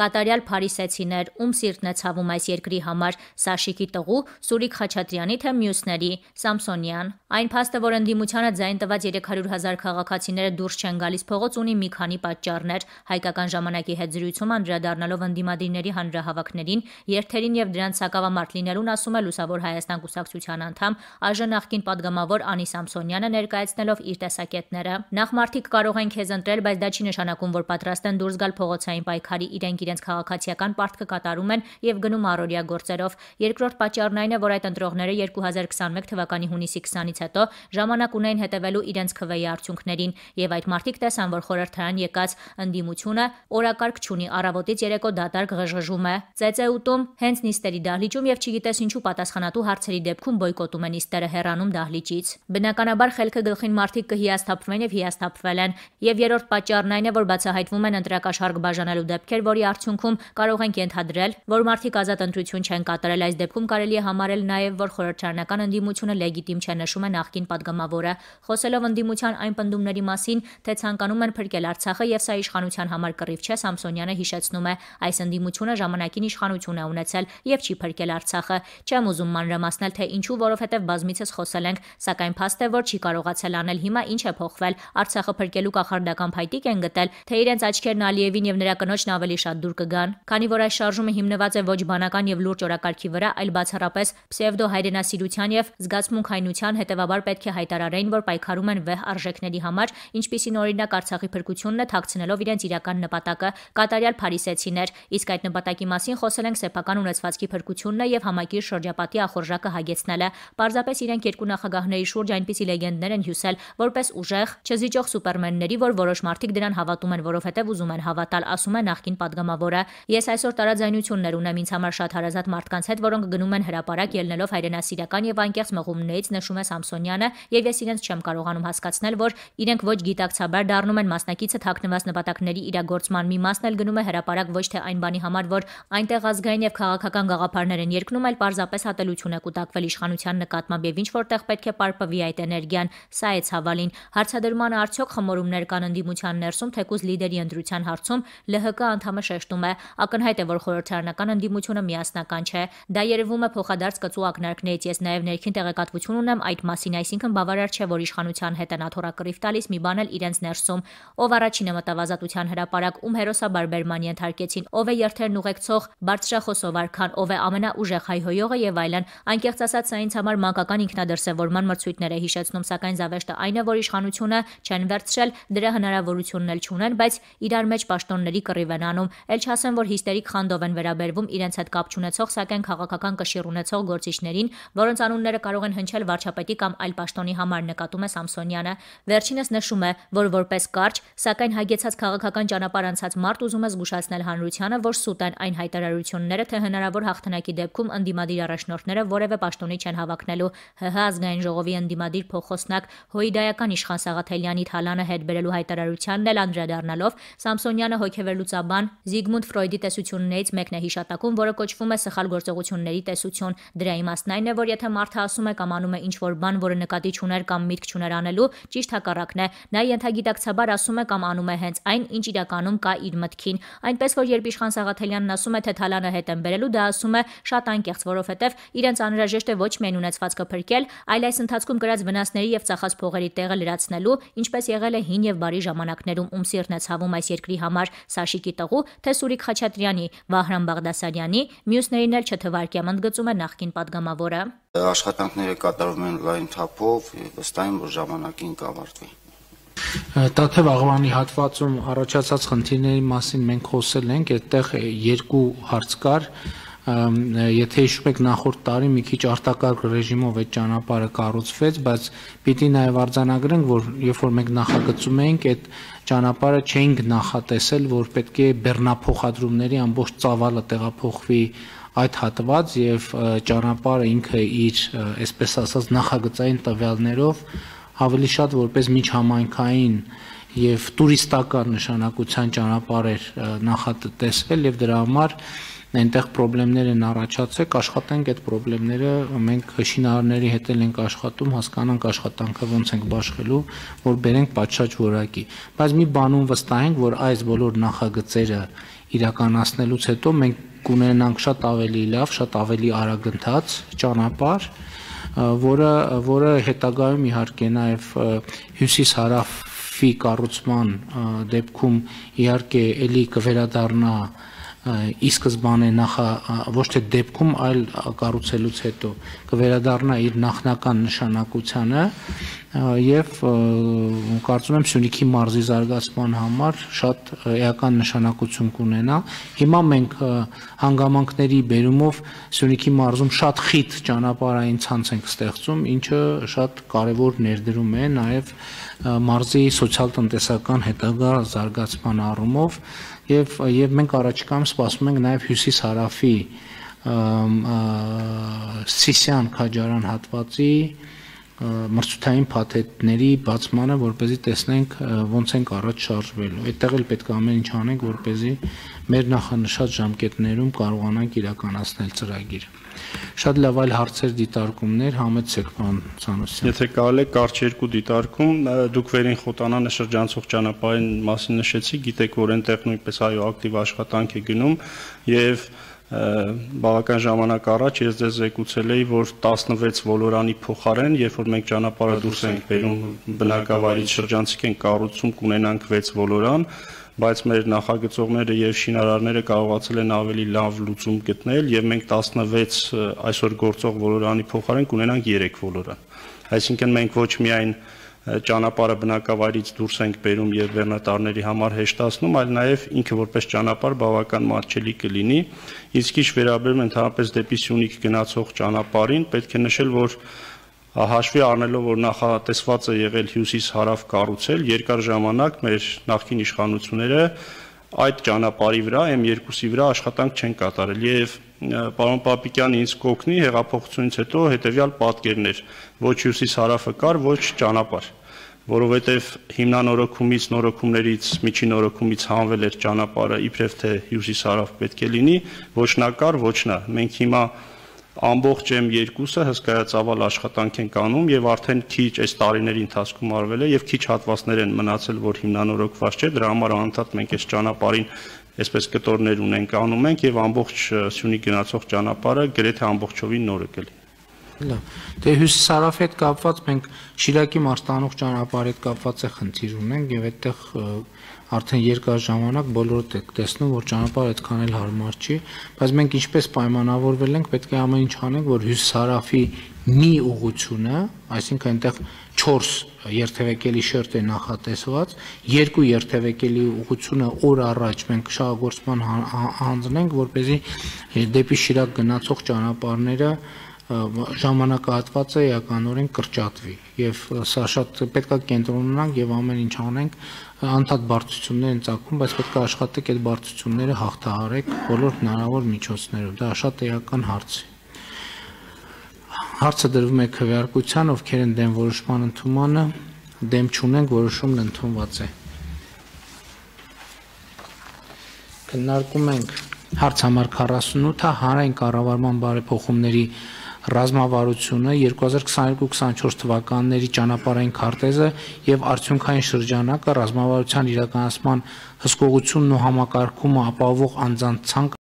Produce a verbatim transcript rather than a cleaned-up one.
կատարյալ փարիսեցիներ, ում սիրտն է ցավում այս երկրի համար, Սաշիկի տղու, Սուրիկ Խաչատրյանի թե մյուսների, Սամսոնյան։ Այն փաստը, որ ընդդիմությանը ձայն տված երեք հարյուր հազար քաղաքացիները դուրս չեն գալիս փողոց, ունի մի քանի պատճառներ։ Հայկական ժամանակի հետ զրույցում անդրադառնալով ընդդիմադիրների հանրահավաքներին, երթերին եւ դրանց սակավամարտ լինելուն, ասում է Լուսավոր Հայաստան կուսակցության անդամ ԱԺ նախկին падգամավոր Անի Սամսոնյանը, ներկայացնելով իր տեսակետները։ Նախ մարդիկ կարող են քեզ ընտրել, բայց դա չի նշանակում, որ պատրաստ են դուրս գալ փողոցային պայքարի, իրենք իրենց քաղաքացիական պարտքը կատարում են եւ գնում առօրյա գործերով։ Երկրորդ պատճառն այն է, որ այդ ընտրողները երկու հազար քսաներկու թվականի հունիսի քսանից հետո ժամանակ ունեն հետևելու իրենց քվեի արդյունքներին, եւ այդ մարդիկ տեսան, որ խորհրդարան եկած ընդդիմությունը օրակարգ չունի, առավոտից երեկո դատարկ ղժղժում է, ծեծեուտում, հենց նիստերի դահլիճում եւ չգիտես ինչու պատասխանատու հարցերի դեպքում բոյկոտում են նիստերը, հեռանում դահլիճից։ Բնականաբար խելքը գլխին մարդիկ կհիասթափվեն եւ հիասթափվել են։ Եվ երրորդ պատճառն այն է, որ բացահայտվում են ընտրակաշարք բաժանելու դեպքեր, որի արդյունքում կարող ենք ենթադրել, որ մարդիկ ազատ ընտրություն չեն կատարել։ Այս դեպքում կարելի է համարել նաեւ, որ խորհրդարանական ընդդիմությունը լեգիտիմ չէ, նշում է նախկին падգամավորը, խոսելով ընդդիմության այն պնդումների մասին, թե ցանկանում են փրկել Արցախը եւ սա իշխանության համար կռիվ չէ, Սամսոնյանը հիշեցնում է, այս ընդդիմությունը ժամանակին իշխանություն է ունեցել եւ չի փրկել Արցախը։ Չեմ ուզում մանրամասնել, թե ինչու, որովհետեւ բազմիցս խոսել ենք, սակայն փաստ է, որ չի կարողացել անել։ Հիմա ինչ է փոխվել, Արցախը փրկելու կախարդական փայտիկ են գտել, թե իրենց աչքերն Ալիևին եւ նրա կնոջն ավելի շատ դուր կգան, քանի որ այս շարժումը հիմնված է ոչ բանական եւ լուրջ օրակարգի վրա, այլ բացառապես պսևդո հայրենասիրության եւ զգացմունքայնության, հետեւաբար պետք է հայտարարեին, որ պայքարում են վեհ արժեքների համար, ինչպիսին օրինակ Արցախի փրկությունն է, թաքցնելով իրենց իրական նպատակը, կատարյալ փարիսեցիներ, իսկ այդ նպատակի մասին խոսել ենք սեփական ունեցվածքի փրկությունն է եւ համակիր շրջապատի ախորժակը հագեցնելը։ Պարզապես իրենք երկու նախագահների շուրջ այնպիսի լեգենդներ են հյուսել, որպես ուժեղ, չզիջող սուպերմենների, որ որոշ մարդիկ դրան հավատում են, որովհետեւ ուզում են հավատալ, ասում է նախկին падգամավորը։ Ես այսօր տարաձայնություններ ունեմ ինձ համար շատ հարազատ մարդկանց հետ, որոնք գնում են հրապարակ ելնելով հայրենասիրական եւ անկեղծ մղումներից, նշում է Սամսոնյանը, եւ ես իրենց չեմ կարողանում հասկացնել, որ իրենք ոչ գիտակցաբար դառնում են մասնակիցը թաքնված նպատակների իրագործման։ Մի մասն էլ գնում է հրապարակ ոչ թե այն բանի համար, որ այնտեղ ազգային եւ քաղաքական գաղափարներ են երկնում, այլ պարզապես հատելություն է կուտակվել իշխանության նկատմամբ եւ ինչ որտեղ պետք է պարպվի այդ էներգիան։ Սա է ցավալին։ Հարցադրմանը արդյոք խմորումներ կան ընդդիմության ներսում, թեկուզ լիդերի ընտրության հարցում ԼՀԿ անդամը շեշտում է, ակնհայտ է, որ խորհրդարանական ընդդիմությունը միասնական չէ։ Դա երևում է փոխադարձ կծու ակնարկներից։ Ես նաեւ ներքին տեղեկատվություն ունեմ այդ մասին, այսինքն բավարար չէ, որ իշխանության հետ են աթոռակռիվ տալիս, մի բան էլ իրենց ներսում։ Ով առաջինը մտավ ազատության հրապարակ, ում հերոսաբար բերման ենթարկեցին, ով է երթերն ուղեկցող բարձրախոսով արքան, ով է ամենաուժեղ հայհոյողը եւ այլն։ Անկեղծ ասած, սա ինձ համար մանկական ինքնադրսևորման մրցույթներ է հիշեցնում, սակայն զավեշտը այն է, որ իշխանությունը չեն վերցրել, դրա հնարավորությունն էլ չունեն, բայց իրար մեջ պաշտոնների կռիվ են անում։ Էլ չասեմ, որ հիստերիկ խանդով են վերաբերվում իրենց հետ կապ չունեցող, սակայն քաղաքական կշիռ ունեցող գործիչներին, որոնց անունները կարող են հնչել վարչապետի կամ այլ պաշտոնի համար, նկատում է Սամսոնյանը։ Վերջինս նշում է, որ որպես կարճ, սակայն հագեցած քաղաքական ճանապարհ անցած մարդ ուզում է զգուշացնել հանրությանը, որ սուտ են այն հայտարարությունները, թե հնարավոր հաղթանակի դեպքում ընդդիմադիր առաջնորդները որևէ պաշտոնի չեն հավակնելու։ ՀՀ ազգային ժողովի ընդդիմադիր փոխոսնակ հոյդայական իշխան Սաղաթելյանի թալանը հետ բերելու հայտարարությանն էլ անդրադառնալով, Սամսոնյանը հոգեվերլուծաբան Զիգմունդ Ֆրոյդի տեսություններից մեկն է հիշատակում, որը կոչվում է սխալ գործողությունների տեսություն։ Դրա իմաստն այն է, որ եթե մարդը ասում է կամ անում է ինչ-որ բան, որը նկատի չուներ կամ միտք չուներ անելու, ճիշտ հակառակն է։ Նա ենթագիտակցաբար ասում է կամ անում է հենց այն, ինչ իրականում կա իր մտքին։ Այնպես որ երբ իշխան Սաղաթելյանն ասում է, թե թալանը հետ են բերելու, դա ասում է շատ անկեղծ, որովհետև իրենց անհրաժեշտ է ոչ միայն ունեցվածքը փրկել, այլ այս ընթացքում կրած վնասների եւ ծախած փողերի տեղը լրացնելու, ինչպես եղել է հին եւ բարի ժամանակներում, ում սիրտն է ցավում այս երկրի համար, Սաշիկի տղու, թե Սուրիկ Խաչատրյանի, Վահրամ Բաղդասարյանի, մյուսներին էլ չթվարկեմ, ընդգծում է նախկին падգամավորը։ Աշխատանքները կատարվում են լայն թափով, վստահ եմ, որ ժամանակին կավարտվի։ Տաթև աղվանի հատվածում առաջացած խնդիրների մասին մենք խոսել ենք, այդտեղ երկու հարց կար։ Եթե հիշում եք, նախորդ տարի մի քիչ արտակարգ ռեժիմով այդ ճանապարհը կառուցվեց, բայց պիտի նաև արձանագրենք, որ երբ որ մենք նախագծում էինք, այդ ճանապարհը չէինք նախատեսել, որ պետք է բեռնափոխադրումների ամբողջ ծավալը տեղափոխվի այդ հատված եւ ճանապարհը ինքը իր, այսպես ասած, նախագծային տվյալներով ավելի շատ որպես միջհամայնքային եւ տուրիստական նշանակության ճանապարհ էր նախատեսվել եւ դրա համար այնտեղ խնդիրներ են առաջացել, աշխատենք այդ խնդիրները, մենք շինարարների հետ ենք աշխատում, հասկանանք աշխատանքը ոնց ենք բաշխելու, որ բերենք պատշաճ որակի, բայց մի բանում վստահ ենք, որ այս բոլոր նախագծերը իրականացնելուց հետո մենք կունենանք շատ ավելի լավ, շատ ավելի արագընթաց ճանապարհ, որը որը հետագայում իհարկե նաև հյուսիս-հարավի կառուցման դեպքում իհարկե էլի կվերադառնա ի սկզբանե նախա ոչ թե դեպքում, այլ կառուցելուց հետո կվերադառնա իր նախնական նշանակությանը եւ կարծում եմ Սյունիքի մարզի զարգացման համար շատ էական նշանակություն կունենա։ Հիմա մենք հանգամանքների բերումով Սյունիքի մարզում շատ խիտ ճանապարհային ցանց ենք ստեղծում, ինչը շատ կարևոր ներդրում է նաեւ մարզի սոցիալ-տնտեսական հետագա զարգացման առումով եւ եւ մենք առաջիկայում սպասում ենք նաեւ հյուսիս-հարավի Սիսիան Քաջարան հատվածի մրցութային փաթեթների բացմանը, որպեսզի տեսնենք ոնց ենք առաջ շարժվելու։ Այդտեղ էլ պետք է ամեն ինչ անենք, որպեսզի մեր նախանշած ժամկետներում կարողանանք իրականացնել ծրագիրը։ Շատ լավ այլ հարցեր, դիտարկումներ համեցեք, պարոն Սանոսյան։ Եթե կարելի է կարճ երկու դիտարկում, դուք վերին Խոտանանը շրջանցող ճանապարհին մասին նշեցիք, գիտեք, որ այնտեղ նույնպես այո ակտիվ աշխատանք է գնում եւ բավական ժամանակ առաջ ես ձեզ զեկուցել էի, որ տասնվեց ոլորանի փոխարեն, երբ որ մենք ճանապարհը դուրս ենք բերում բնակավայրից շրջանցիկ ենք կառուցում, կունենանք վեց ոլորան, բայց մեր նախագծողները եւ շինարարները կարողացել են ավելի լավ լուծում գտնել եւ մենք տասնվեց այսօր գործող ոլորանի փոխարեն կունենանք երեք ոլորան։ Այսինքն մենք ոչ միայն ճանապարհը բնակավայրից դուրս ենք բերում եւ բեռնատարների համար հեշտացնում, այլ նաեւ ինքը որպես ճանապարհ բավական մատչելի կլինի։ Իսկ ինչ վերաբերում ընդհանրապես դեպի Սյունիք գնացող ճանապարհին, պետք է նշել, որ հաշվի առնելով, որ նախատեսված է եղել հյուսիս-հարավ կառուցել, երկար ժամանակ մեր նախկին իշխանությունները այդ ճանապարհի վրա էմ երկուսի վրա աշխատանք չեն կատարել եւ պարոն Պապիկյանը ինձ կօգնի հեղափոխությունից հետո հետեւյալ պատկերներ, ոչ հյուսիս-հարավը կար, ոչ ճանապարհ, որովհետեւ հիմնանորոգումից, նորոգումներից, միջին նորոգումից հանվել էր ճանապարհը, իբրև թե հյուսիս-հարավ պետք է լինի, ոչ նա կար, ոչ նա։ Մենք հիմա ամբողջ էմ երկուսը հսկայածավալ աշխատանք ենք անում եւ արդեն քիչ այս տարիների ընթացքում արվել է եւ քիչ հատվածներ են մնացել, որ հիմնանորոգված չէ, դրա համար անընդհատ մենք այս ճանապարհին այսպես կտորներ ունենք, անում ենք եւ ամբողջ Սյունիք գնացող ճանապարհը գրեթե ամբողջովին նորը կլինի։ Լավ։ Դե հյուսիս-հարավի հետ կապված մենք Շիրակի մարզտանող ճանապարհի հետ կապված է խնդիր ունենք եւ այդտեղ արդեն երկար ժամանակ բոլորդ եք տեսնում, որ ճանապարհը այդքան էլ հարմար չի, բայց մենք ինչպես պայմանավորվել ենք, պետք է ամեն ինչ անենք, որ հյուսիս-հարավի մի ուղղությունը, այսինքն այնտեղ չորս երթևեկելի շերտ է նախատեսված, երկու երթևեկելի ուղղությունը օր առաջ մենք շահագործման հանձնենք, որպեսզի դեպի Շիրակ գնացող ճանապարհները ժամանակահատվածը էականորեն կրճատվի եւ սա շատ պետք է կենտրոնանանք եւ ամեն ինչ անենք, անդադ բարդություններ են ծագում, բայց պետք է աշխատեք այդ բարդությունները հաղթահարեք բոլոր հնարավոր միջոցներով, դա շատ էական հարց է։ Հարցը դրվում է քվեարկության, ովքեր են դեմ որոշման ընդունմանը, դեմ չունենք, որոշումն ընդունված է։ Քննարկում ենք հարց համար քառասունութը հանրային կառավարման բարեփոխումների ռազմավարությունը երկու հազար քսաներկու քսաներկու թվականների ճանապարհային քարտեզը եւ արդյունքային շրջանակը ռազմավարության իրականացման հսկողությունն ու համակարգումը ապահովող անձանց ցանկ